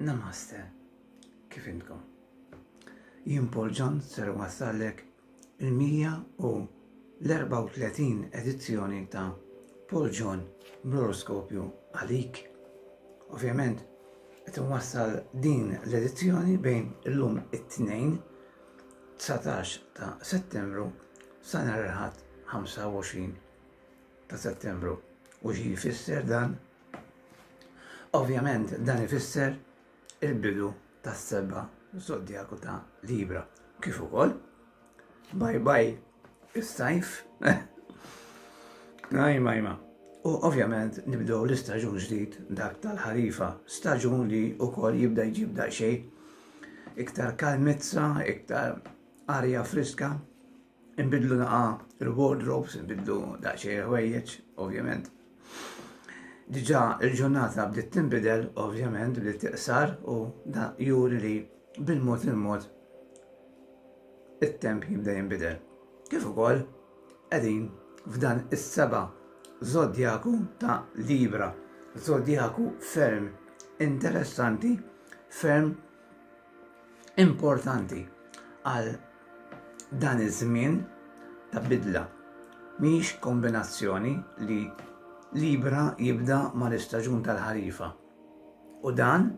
Namaste. Kif intkom? Jien Paul John ser wassallek il-134 edizzjoni ta' Paul John bl-oroskopju għalik. Ovvjament, qed inwassal din l-edizzjoni bejn illum it-Tnejn 19 ta' Settembru sa nhar il-Ħadd 25 ta' Settembru. U xi jfisser dan? Ovvjament dan ifisser il-bidu tas-seba' zodjaku ta' Libra. Kif ukoll bye bye is-sajf. Ajma, ajma. U ovvjament nibdew l-istaġun ġdid dak tal-ħarifa, staġun li wkoll jibda jġib daqsxejn iktar kalmizza, iktar arja friska, Inbidlu naqa il-wardrobes, inbidlu daqsxejn ħwejjeġ, ovvjament. Diġà il-ġurnata bdiet tinbidel, ovvjament, bdiet tiqsar u da juri li bil-mod il-mod it-temp jibda jinbidel. Kif ukoll qegħdin f'dan is-seba' zodjaku ta' Libra, zodjaku ferm interessanti, ferm importanti għal dan iż-żmien ta' bidla. Mhix kombinazzjoni li Libra jibda mal-istaġun tal-ħarifa. U dan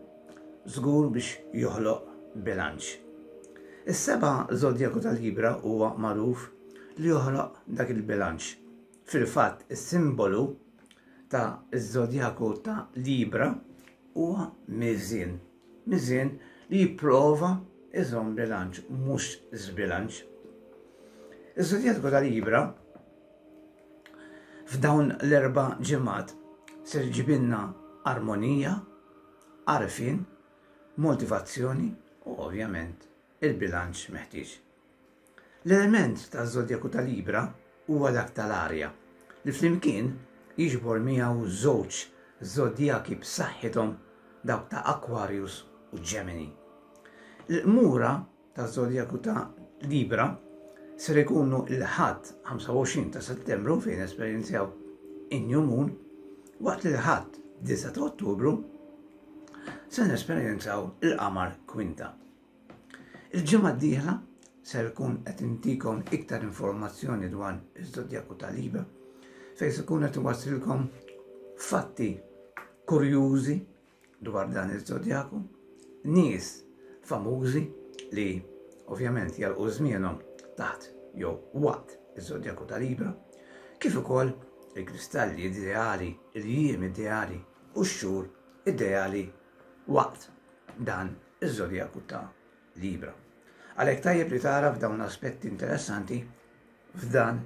żgur biex joħloq bilanċ. Is-seba' żodjaku tal-Libra huwa magħruf li joħloq dak il-bilanċ. Fil-fatt, is-simbolu ta' iż-żodjaku ta' Libra huwa miżien. Miżien li jipprova iżomm bilanċ, mhux żbilanċ. Iż-żodjaku ta' Libra f'dawn l-erba' ġimgħat ser ġibilna armonija, għarfien, motivazzjoni u ovvjament il-bilanċ meħtieġ. L-element taż-żodjaku ta' Libra huwa dak tal-arja, li flimkien jiġbor miegħu żewġ żodjaki b'saħħithom dawk ta' Aquarius u Gemini. Il-qmura taż-żodjaku ta' Libra ser ikunu l-Ħadd 25 ta' Settembru fejn nesperjenzjaw in-New Moon, waqt li l-Ħadd 9 ta' Ottubru se nesperjenzaw il-qamar kwinta. Il-ġimgħa d-dieħla ser ikun qed intikom iktar informazzjoni dwar iż-żodjaku ta' Libra fejn se kun qed iwassilkom fatti kurjużi dwar dan iż-żodjaku, nies famużi li ovvjament jalqu żmienhom taħt jew waqt iż-żodjaku ta' Libra, kif ukoll il-kristalli ideali, il-jiem ideali u x-xhur ideali waqt dan iż-żodjaku ta' Libra. Għalhekk tajjeb li tagħraf dawn l-aspetti interessanti f'dan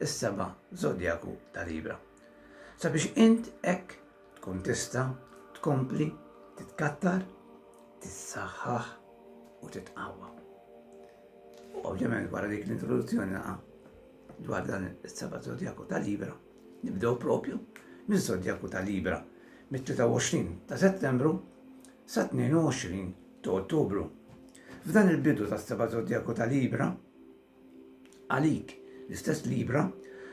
is-seba' żodjaku ta' Libra. Sabiex int hekk tkun tista' tkompli titkattar, tissaħħaħ u titqawwa. U ovvjament wara dik l-introduzzjoni naqa' dwar dan is-seba' żodjaku ta' Libra, nibdew propju miż-żodjaku ta' Libra mit-23 ta' Settembru sat-22 ta' Ottubru. F'dan il-bidu tas-seba' żodjaku ta' Libra, għalik l-istess Libra,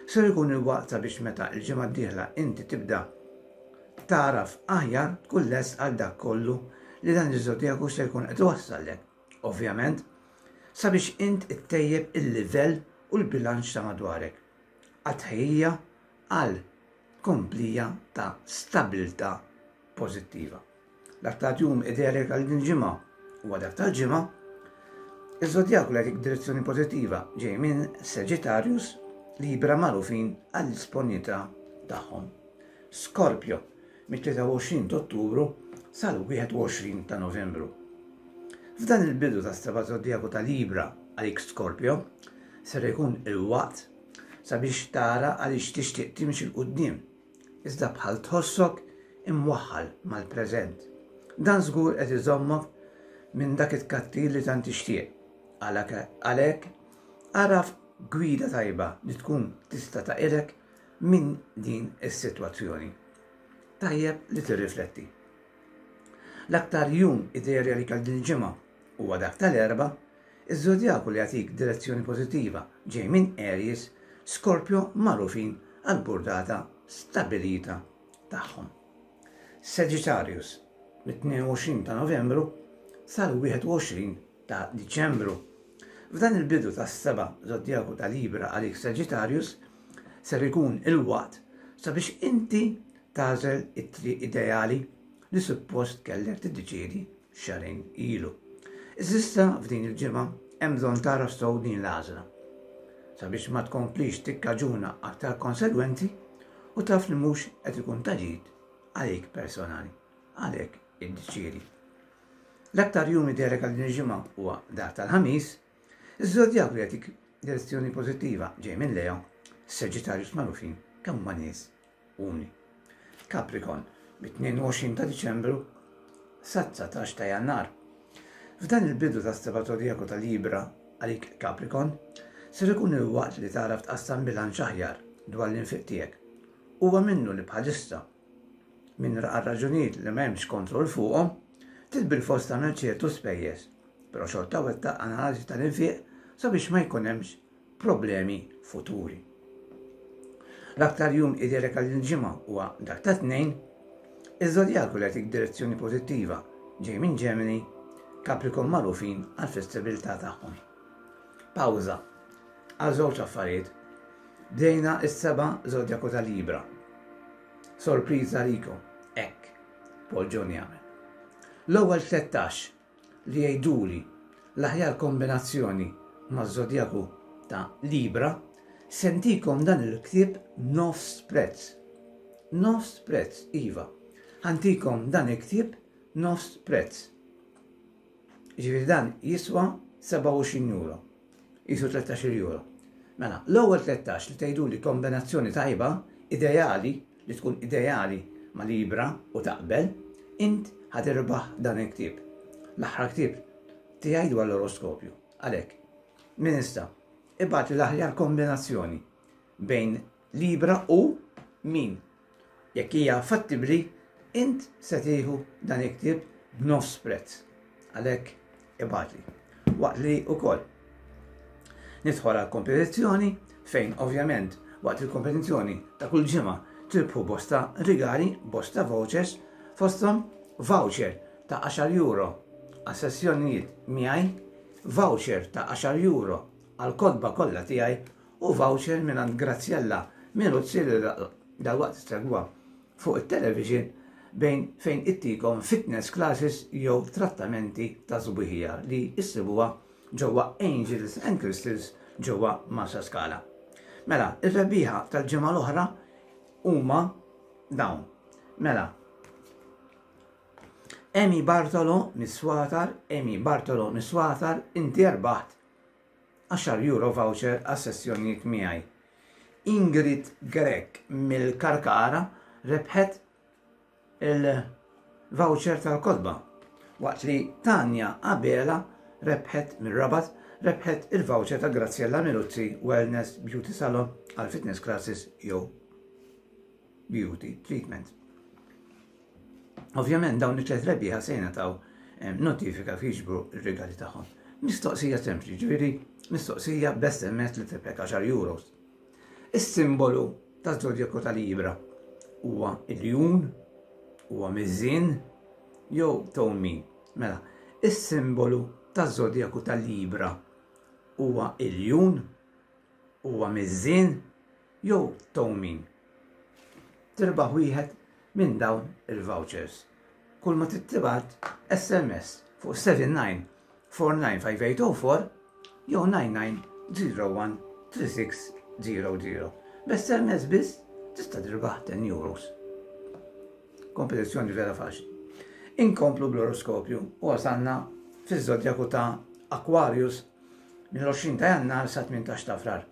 ser ikun il-waqt sabiex meta l-ġimgħa d-dieħla inti tibda tagħraf aħjar tkun lest għal dak kollu li dan iż-żodjaku se jkun qed iwassallek. Ovvjament, sabiex int ittejjeb il-livell u l-bilanċ ta' madwarek. Għat-tħejjija għal tkomplija ta' stabilità pożittiva. L-aktar jum ideali għal din il-ġimgħa huwa dak tal-ġimgħa. Iż-żodjaku li jagħtik direzzjoni pożittiva ġej minn Sagittarius Libra magħrufin għall-isponjetà tagħhom. Scorpio mit-23 ta' Ottubru sal-21 ta' Novembru. F'dan il-bidu tas-seba' żodjaku ta' Libra għalik Scorpio ser ikun il-waqt sabiex tara għaliex tixtieq timxi 'l quddiem iżda bħal tħossok imwaħħal mal-preżent. Dan żgur qed iżommok minn dak it-tkattir li tant tixtieq. Għalhekk, agħraf gwida tajba li tkun tista' taqilek minn din is-sitwazzjoni. Tajjeb li tirrifletti. L-aktar jum ideali għalik għal din il-ġimgħa huwa dak tal-Erbgħa, iż-żodjaku li jagħtik direzzjoni pożittiva ġej minn Aries, Scorpio magħrufin għall-burdata stabbilita tagħhom. Sagittarius. mit-22 ta' Novembru sal-21 ta' Diċembru. F'dan il-bidu tas-seba' żodjaku ta' Libra għalik Sagittarius ser ikun il-waqt sabiex inti tagħżel it-triq ideali li suppost kellek tiddeċiedi xahrejn ilu. Iżda f'din il-ġimgħa hemm bżonn tagħraf sew din l-għażla sabiex ma tkomplix tikkaġuna aktar konsegwenzi u taf li mhux qed ikun ta' ġid għalik personali. Għalhekk iddeċiedi. L-aktar jum ideali għal din il-ġimgħa huwa dak tal-Ħamis, iż-żodjak li jagħtik direzzjoni pożittiva ġej minn Leo, Sagittarius magħrufin kemm huma nies umli. Capricorn, mit-22 ta' Diċembru sat-19 ta' Jannar. F'dan il-bidu tas-seba' zodijaku ta' Libra għalik Capricorn, ser ikun il-waqt li tagħraf tqassam bilanċ aħjar dwar l-infiq tiegħek. Huwa minnu li bħalissa, minn għal raġunijiet li ma hemmx kontroll fuqhom, trid bilfors tagħmel ċertu spejjeż, però xorta wettaq analiżi tal-infiq sabiex ma jkun hemmx problemi futuri. L-aktar jum ideali għal din il-ġimgħa huwa dak ta' Tnejn, iż-żodjaku li jagħtik direzzjoni pożittiva ġej minn Gemini, Capricorn magħrufin għall-flessibilità tagħhom. Pawża għal żewġ affarijiet. Bdejna is-seba' żodjaku ta' Libra. Sorpriża għalikom, hekk Paul John jagħmel. L-ewwel 13 li jgħiduli l-aħjar kombinazzjoni maż-żodjaku ta' Libra, se ntikom dan il-ktieb nofs prezz. Nofs prezz, iva. Ħa ntikom dan il-ktieb nofs prezz. Ġifieri dan jiswa 27 euro. Jisu 13 euro. Mela, l-ewwel 13 li tgħiduli kombinazzjoni tajba, ideali, li tkun ideali ma' Libra u taqbel, int ħa tirbaħ dan il-ktieb. L-aħħar ktieb tiegħi dwar l-oroskopju. Għalhekk, min issa, ibgħatli l-aħjar kombinazzjoni bejn Libra u min. Jekk hija fattibbli, int se tieħu dan il-ktieb b'nofs prezz. Għalhekk ibgħatli. Waqt li wkoll nidħol għal kompetizzjoni fejn ovvjament waqt il-kompetizzjoni ta' kull ġimgħa tirbħu bosta rigali, bosta vouchers, fosthom voucher ta' 10 euro għal sessjonijiet miegħi, voucher ta' 10 euro għal kotba kollha tiegħi u voucher mingħand Graziella Miruzzi li dalwaqt issegwuha fuq it-television bejn fejn ittikom fitness classes jew trattamenti ta' sbuħija li issibuha ġewwa Angels and Crystals ġewwa Marsaskala. Mela, ir-rebbieħa tal-ġimgħa l-oħra huma dawn. Mela, Emi Bartolo mis-Swatar, Emi Bartolo mis-Swatar, inti rbaħt Għaxar euro voucher għas-sessjonijiet miegħi. Ingrid Grech mill-Karkara rebħet il-voucher tal-kotba, waqt li Tanja Abela rebħet mir-Rabat rebħet il-voucher ta' Graziella Miluzzi Wellness Beauty Salon għal fitness classes jew beauty treatment. Ovvjament dawn it-tlet rebbieħa se jingħataw eh, notifika kif jiġbru r-rigali tagħhom. Mistoqsija sempliċi, ġifieri mistoqsija b'SMS li tibek 10 euros. Is-simbolu taż-żodjaku ta' Libra huwa iljun, huwa miżien jew towmin. Mela, is-simbolu taż-żodjaku ta' Libra huwa iljun, huwa miżien jew towmin. Tirbaħ wieħed minn dawn il-vouchers. Kull ma trid tibgħat SMS fuq 79495804 jew 99013600. B'SMS biss tista' tirbaħ 10 euros. Kompetizzjoni vera faċli. Inkomplu bl-oroskopju u wasalna fiż-żodjaku ta' Aquarius mill-20 ta' Jannar sa 18 ta' Frar.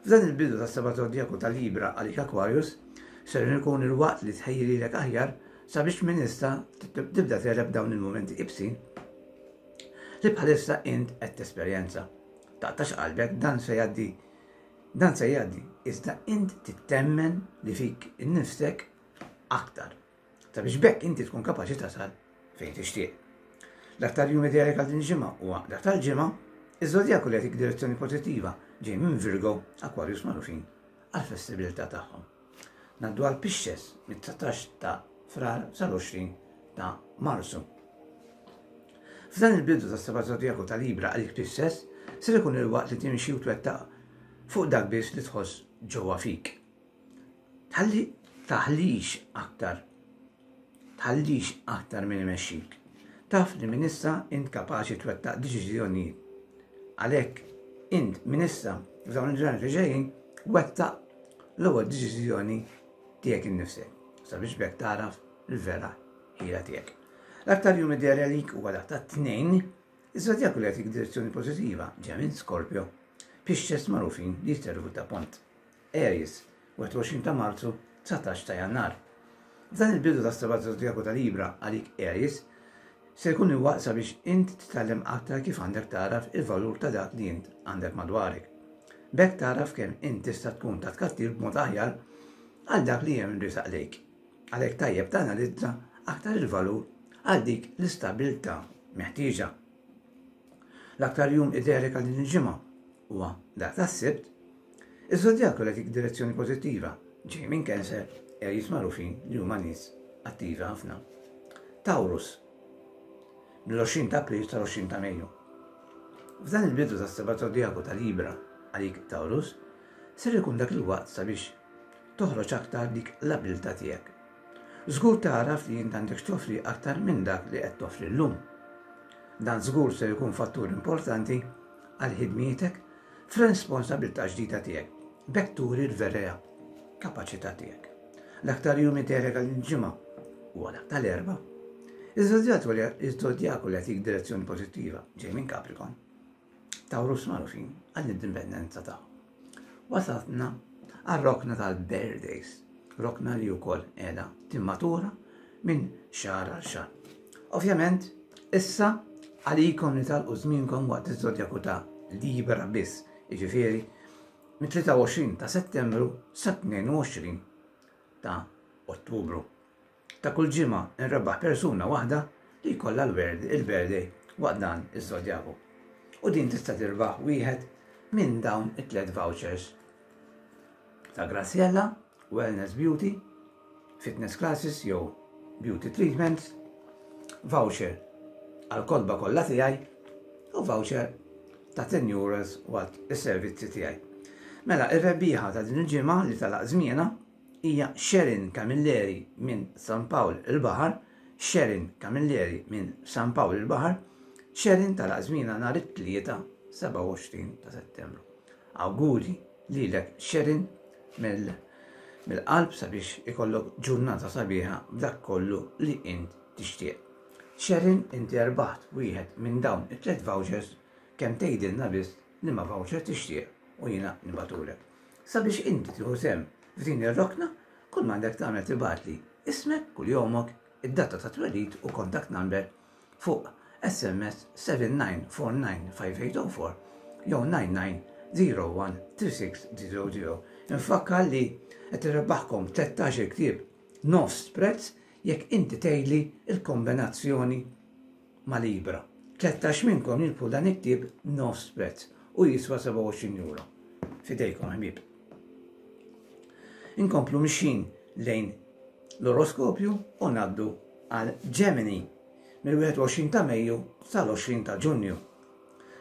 F'dan il-bidu tas-seba' zodjaku ta' Libra għalik Aquarius, ser ikun il-waqt li tħejji lilek aħjar sabiex minn issa tibda tegħleb dawn il-mumenti ibsin li bħalissa int qed tesperjenza. Taqtax qalbek dan se jgħaddi dan se jgħaddi iżda int tittemmen li fik innifsek aktar. Sabiex b'hekk inti tkun kapaċi tasal fejn tixtieq. L-aktar jum ideali għal din il-ġimgħa huwa dak tal-Ġimgħa, iż-żodjaku li jagħtik direzzjoni pożittiva ġej minn Virgo, Aquarius magħrufin għall-flessibilità tagħhom. Ngħaddu għal Pisces mit-19 ta' Frar sal-20 ta' Marzu. F'dan il-bidu tas-seba' żodjaku ta' Libra għalik Pisces, ser ikun il-waqt li timxi u twettaq fuq dak biss li tħoss ġewwa fik. Tħalli taħlix aktar. Tħallix aktar min imexxik. Taf li minn issa int kapaċi twettaq deċiżjonijiet. Għalhekk int minn issa f'dawn il-ġranet li ġejjin wettaq l-ewwel deċiżjoni tiegħek innifsek sabiex b'hekk tagħraf il-vera ħila tiegħek. L-aktar jum ideali għalik huwa dak tat-Tnejn, iż-żodjaku li jagħtik direzzjoni pożittiva ġej minn Scorpio, Pisces magħrufin li jservu ta' pont. Aries, 21 ta' Marzu, 19 ta' Jannar. F'dan il-bidu tas-seba' żodjaku ta' Libra għalik Aries, se jkun il-waqt sabiex int titgħallem aktar kif għandek tagħraf il-valur ta' dak li int għandek madwarek. B'hekk tagħraf kemm int tista' tkun ta' tkattir b'mod aħjar għal dak li hemm risaq lejk. Għalhekk tajjeb tanalizza aktar il-valur għal dik l-istabilità meħtieġa. L-aktar jum ideali għal din il-ġimgħa huwa dak tas-Sibt. Iż-żodjaku li dik direzzjoni pożittiva ġej minn Cancer Aries magħrufin li huma nies attivi ħafna. Taurus mill-20 ta' April sal-20 ta' Mejju. F'dan il-bidu tas-seba' zodjaku ta' Libra għalik Taurus, ser ikun dak il-waqt sabiex toħroġ aktar dik l-abilità tiegħek. Żgur tagħraf li int għandek x'toffri aktar minn dak li qed toffri llum. Dan żgur ser ikun fattur importanti għal ħidmietek f'responsabilità ġdida tiegħek, b'hekk turi l-vera kapaċità tiegħek. L-aktar jum ideali għal ġimgħa huwa dak tal-Erbgħa. Iż-żodjaku li jagħtik direzzjoni pożittiva ġej minn Capricorn. Taurus magħrufin għall-indipendenza tagħhom. Wasalna għar-rokna tal-birthdays, rokna li wkoll qiegħda timmatura minn xahar għal xahar. Ovvjament, issa għalikom li talqu żmienkom waqt iż-żodjaku ta' Libra biss, jiġifieri mit-23 ta' Settembru sa 22 ta' Ottubru. Ta' kull ġimgħa nrebbaħ persuna waħda li jkollha l-birthday waqt dan iż-żodjaku. U din tista' tirbaħ wieħed minn dawn it-tlet vouchers ta' Graziella, Wellness Beauty, Fitness Classes jew Beauty Treatments, voucher għal kotba kollha tiegħi u voucher ta' 10 euros waqt is-servizzi tiegħi. Mela, ir-rebbieħa ta' din il-ġimgħa li talaq żmienha hija Sharon Camilleri minn San Pawl il-Baħar, Sharon Camilleri minn San Pawl il-Baħar, Sharon tagħlaq żmienha nhar it-Tlieta 27 ta' Settembru. Awguri lilek Sharon mill-qalb sabiex ikollok ġurnata sabiħa b'dak kollu li int tixtieq. Sharon inti rbaħt wieħed minn dawn it-tliet vouchers kemm tgħidilna biss liema voucher tixtieq u jiena nibgħatulek. Sabiex inti tieħu sehem f'din ir-rokna, kull m'għandek tagħmel tibgħatli ismek, kuljomok, id-data ta' twelid u contact number fuq SMS 79495804 jew 99013600. Infakkar li qed irrebbaħkom 13-il ktieb nofs prezz jekk inti tgħidli l-kombinazzjoni ma' Libra. 13 minnkom jirbħu dan il-ktieb nofs prezz u jiswa 27 euro. Fidejkom ħbieb. Inkomplu mixjin lejn l-oroskopju u naddu għal Gemini mill-21 ta' Mejju sal-20 ta' Ġunju.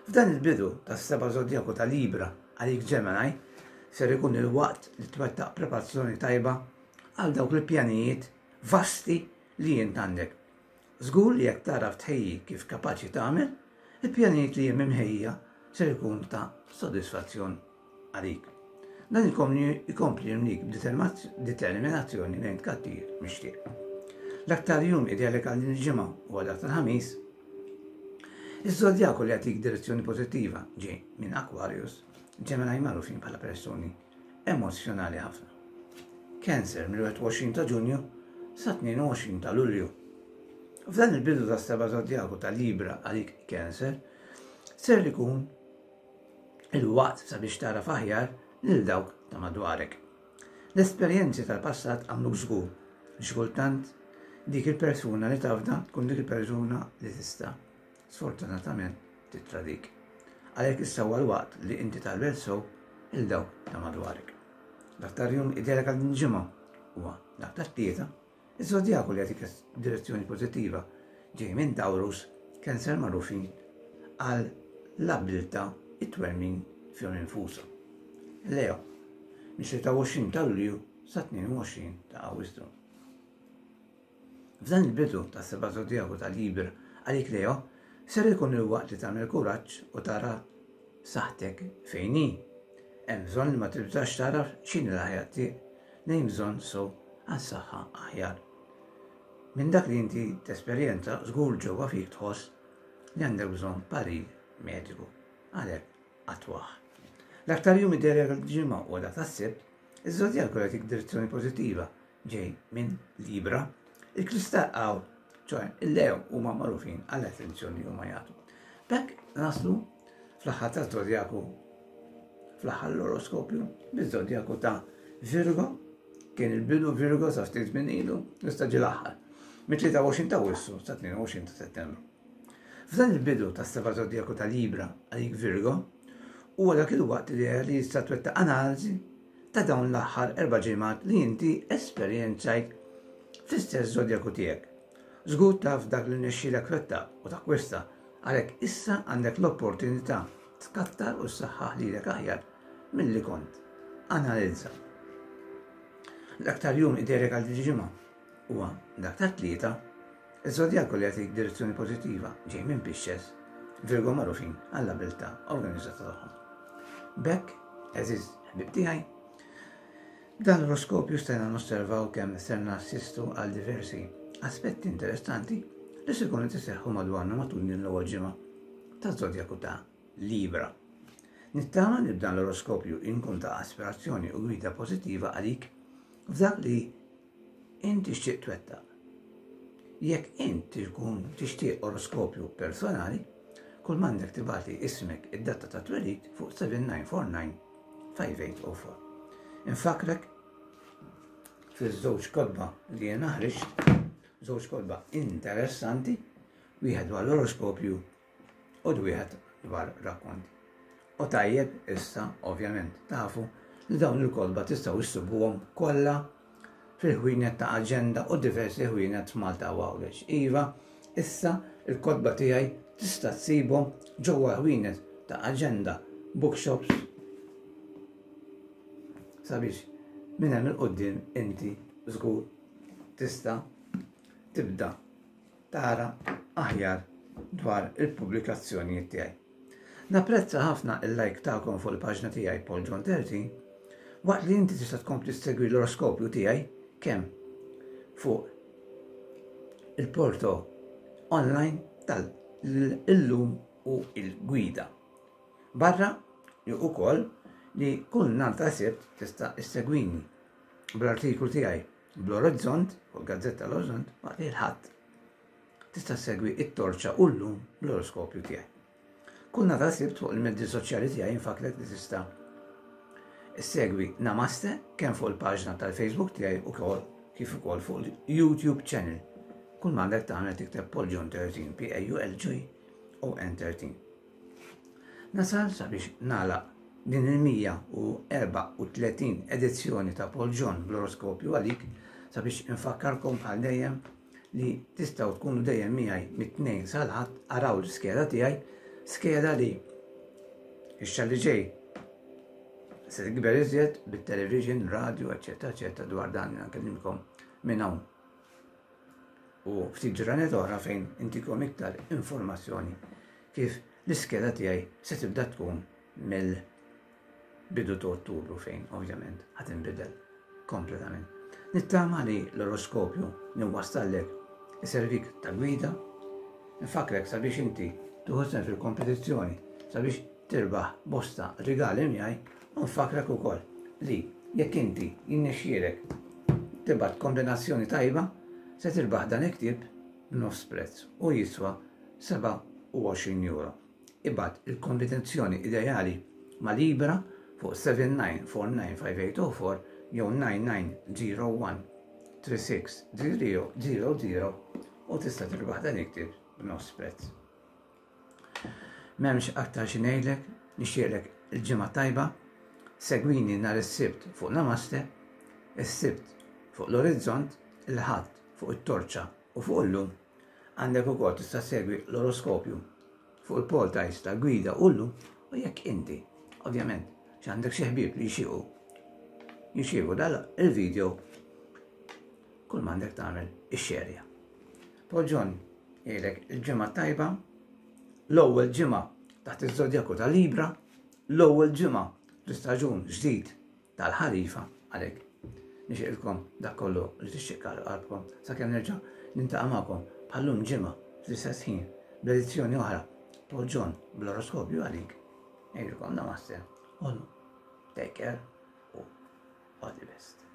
F'dan il-bidu tas-seba' zodjaku ta' Libra għalik Gemini ser ikun il-waqt li twettaq preparazzjoni tajba għal dawk il-pjanijiet vasti li jint għandek. Żgur li jekk tagħraf tħejji kif kapaċi tagħmel, il-pjanijiet li hemm imħejja ser ikunu ta' sodisfazzjon għalik. Dan ikompli jimlik b'determinazzjoni lejn tkattir mixtieq. L-aktar jum ideali għal din il-ġimgħa huwa dak tal-Ħamis. Iż-żodjaku li jagħtik direzzjoni pożittiva ġej minn Aquarius, Gemini magħrufin bħala persuni emozzjonali ħafna. Cancer mill-21 ta' Ġunju sa 22 ta' Lulju. F'dan il-bidu tas seba' zodjaku ta' Libra għalik Cancer, ser ikun il-waqt sabiex tara aħjar lil dawk ta' madwarek. L-esperjenzi tal-passat għamluk żgur li xi kultant dik il-persuna li tafda tkun dik il-persuna li tista' sfortunatament tittradik. Għalhekk issa huwa l-waqt li inti tagħmel sew lil dawk ta' madwarek. L-aktar jum ideali għal din ġimgħa huwa dak tat-Tlieta, iż-żodjaku li jagħtik direzzjoni pożittiva. ġej minn Taurus, Cancer magħrufin għal l-abbiltà it-twemmin fihom infushom. Leo, mis-26 ta' Lulju sa 22 ta' Awwissu. F'dan il-bidu tas-seba' żodjaku ta' Libra għalik Leo, ser ikun il-waqt li tagħmel kuraġġ u tara saħħtek fejn hi. Hemm bżonn li ma tibżax tagħraf x'inhi l-aħjar triq li hemm bżonn sew għal saħħa aħjar. Minn dak li inti tesperjenza żgur ġewwa fik tħoss li għandek bżonn parir mediku. Għalhekk attwah. L-aktar jum ideali għall-ġimgħa huwa dak tas-Sibt, iż-żodjaku jagħtik direzzjoni pożittiva ġej minn Libra. Il-kristall għaw, ċoħe, il-Leo huma magħrufin għall-attenzjoni li huma jagħtu. B'hekk naslu fl-aħħar ta' zodjaku fl-aħħar l-oroskopju biż-zodjaku ta' Virgo kien il-bidu Virgo sa ftit minn ilu, issa ġie l-aħħar. Mit-23 ta' Wissu sa 22 ta' Settembru. F'dan il-bidu tas-seba' zodjaku ta' Libra għalik Virgo, huwa dak il-waqt li jista' twettaq analiżi ta' dawn l-aħħar erba' ġimgħat li inti esperjenzajt fl-istess żodjaku tiegħek. Żgur taf dak li rnexxielek twettaq u takkwista, għalhekk issa għandek l-opportunità tkattar u ssaħħaħ lilek aħjar milli kont. Analizza. L-aktar jum ideali għal din il-ġimgħa huwa dak tat-Tlieta, iż-żodjaku li jagħtik direzzjoni pożittiva ġej minn Pisces, Virgo magħrufin għall-abilità organizzata tagħhom. B'hekk, għeżież ħbieb tiegħi, b'dan l-oroskopju stajna nosservaw kemm ser nassistu għal diversi aspetti interessanti li se jkunu qed iseħħu madwarna matul din l-ewwel ġimgħa taż-żodjaku ta' Libra. Nittama li b'dan l-oroskopju inkun ta' aspirazzjoni u gwida pożittiva għalik f'dak li int tixtieq twettaq. Jekk int tkun tixtieq oroskopju personali, kull m'għandek tibgħati ismek id-data ta' twelid fuq 7949 5804. Infakrek fiż-żewġ kotba li jien ħriġt, żewġ kotba interessanti, wieħed dwar l-oroskopju u wieħed dwar rakkonti. U tajjeb issa, ovvjament, tafu li dawn il-kotba tistgħu issibuhom kollha fil-ħwienet ta' Aġenda u diversi ħwienet f'Malta u Għawdex. Iva, issa il-kotba tiegħi tista' tsibhom ġewwa ħwienet ta' Aġenda Bookshops sabiex minn hemm il-quddiem inti żgur tista' tibda tara aħjar dwar il-pubblikazzjonijiet tiegħi. Napprezza ħafna il-like tagħkom fuq il-paġna tiegħi Paul John 13 waqt li inti tista' tkompli ssegwi l-oroskopju tiegħi kemm fuq il-porto online tal-illum u il-gwida. Barra li ukoll li kull nhar ta' Sibt tista' issegwini bl-artiklu tiegħi bl-Orizzont, fuq il-gazzetta l-Orizzont, waqt li l-Ħadd tista' ssegwi it-torċa u llum bl-oroskopju tiegħi. Kull nhar ta' Sibt fuq il-mezzi soċjali tiegħi infakrek li tista' issegwi Namaste kemm fuq il-paġna tal-Facebook tiegħi ukoll kif ukoll fuq il-YouTube channel. Kull m'għandek tagħmel tikteb Paul John 13 P A U L J O N 13. Nasal sabiex nagħlaq din il-134 edizzjoni ta' Paul John bl-oroskopju għalik sabiex infakkarkom bħal dejjem li tistgħu tkunu dejjem miegħi mit-tnejn sal-Ħadd araw l-iskeda tiegħi, skeda li ix-xahar li ġej se tikber iżjed bit-television, radio, eċċetera, eċċetera dwar dan nkellimkom minn hawn. U ftit ġranet oħra fejn intikom iktar informazzjoni kif l-iskeda tiegħi se tibda tkun mill-bidu ta' Ottubru fejn ovvjament ħa tinbidel kompletament. Nittama li l-oroskopju li nwassallek iservik ta' gwida, nfakrek sabiex inti tieħu sehem fil-kompetizzjoni sabiex tirbaħ bosta rigali miegħi u nfakrek ukoll li jekk inti jinnexxielek tibgħat kombinazzjoni tajba se tirbaħ dan il-ktieb b'nofs prezz u jiswa 27 euro. Ibgħat il-kombinazzjoni ideali ma' Libra fuq 79495804 jew 9901 3600 u tista' tirbaħ dan il-ktieb b'nofs prezz. M'hemmx aktar xi ngħidlek, nixtieqlek il-ġimgħa tajba, segwini nhar is-Sibt fuq Namaste, is-Sibt fuq l-Orizzont, il-Ħadd fuq it-Torċa u fuq Illum. Għandek ukoll tista' segwi l-oroskopju fuq il-portals ta' Gwida u Llum u jekk inti, ovvjament, xi għandek xi ħbieb li jixtiequ jirċievu dal il-video kull m'għandek tagħmel ixxerja. Paul John jgħidlek il-ġimgħa tajba, l-ewwel ġimgħa taħt iż-żodjaku ta' Libra, l-ewwel ġimgħa l-istaġun ġdid tal-ħarifa għalhekk. Nixtieqilkom dak kollu li tixtieq qalbkom sakemm nerġa' nintaqa' magħkom bħallum ġimgħa fl-istess ħin b'edizzjoni oħra Paul John bl-oroskopju għalik. Ngħidilkom namaste. Take care u all the best.